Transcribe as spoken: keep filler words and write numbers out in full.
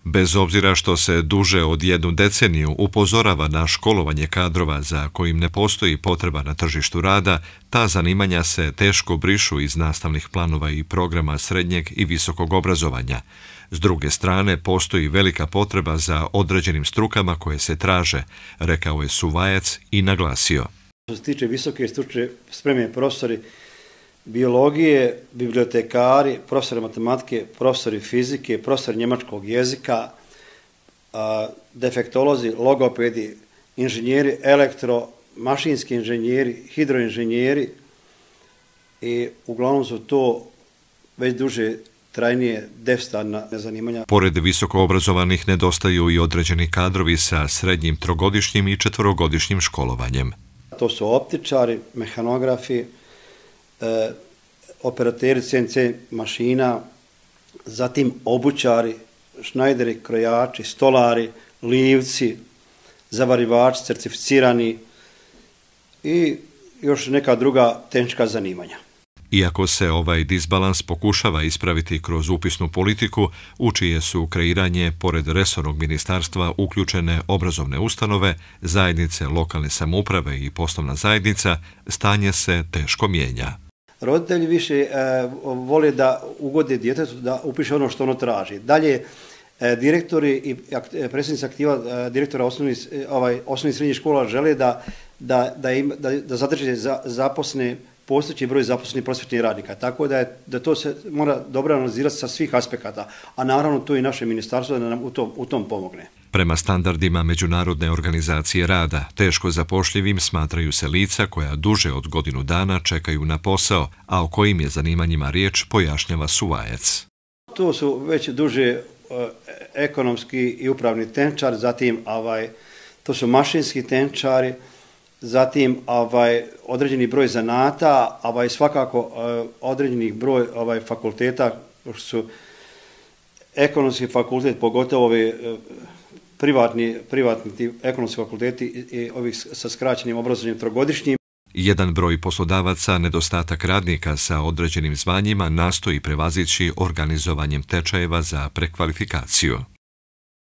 Bez obzira što se duže od jednu deceniju upozorava na školovanje kadrova za kojim ne postoji potreba na tržištu rada, ta zanimanja se teško brišu iz nastavnih planova i programa srednjeg i visokog obrazovanja. S druge strane, postoji velika potreba za određenim strukama koje se traže, rekao je Suvajac i naglasio. Što se tiče visoke stručne spreme, profesori biologije, bibliotekari, profesori matematike, profesori fizike, profesori njemačkog jezika, defektolozi, logopedi, inženjeri elektro, mašinski inženjeri, hidroinženjeri i uglavnom su to već duže trajnije deficitarna zanimanja. Pored visoko obrazovanih nedostaju i određeni kadrovi sa srednjim trogodišnjim i četvorogodišnjim školovanjem. To su optičari, mehanografi, e, operateri C N C mašina, zatim obućari, šnajderi, krojači, stolari, livci, zavarivači, certificirani i još neka druga tehnička zanimanja. Iako se ovaj disbalans pokušava ispraviti kroz upisnu politiku, u čije su kreiranje, pored resornog ministarstva, uključene obrazovne ustanove, zajednice lokalne samouprave i poslovna zajednica, stanje se teško mijenja. Roditelji više e, vole da ugode djetetu da upiše ono što ono traži. Dalje, e, direktori i predsjednici aktiva e, direktora osnovnih, ovaj, osnovnih srednjih škola žele da, da, da, im, da, da zadrže za, zaposne postojeći broj zaposlenih prosvjetnih radnika, tako da, je, da to se mora dobro analizirati sa svih aspekata, a naravno to i naše ministarstvo da nam u tom, u tom pomogne. Prema standardima Međunarodne organizacije rada, teško zapošljivim smatraju se lica koja duže od godinu dana čekaju na posao, a o kojim je zanimanjima riječ, pojašnjava Suvajac. To su već duže uh, ekonomski i upravni tehničari, zatim ovaj, to su mašinski tehničari, zatim ovaj, određeni broj zanata, ovaj, svakako uh, određeni broj ovaj, fakulteta, što su ekonomski fakultet, pogotovo ovi uh, privatni, privatni ekonomski fakulteti i ovih sa skraćenim obrazovanjem trogodišnjim. Jedan broj poslodavaca, nedostatak radnika sa određenim zvanjima nastoji prevazići organizovanjem tečajeva za prekvalifikaciju.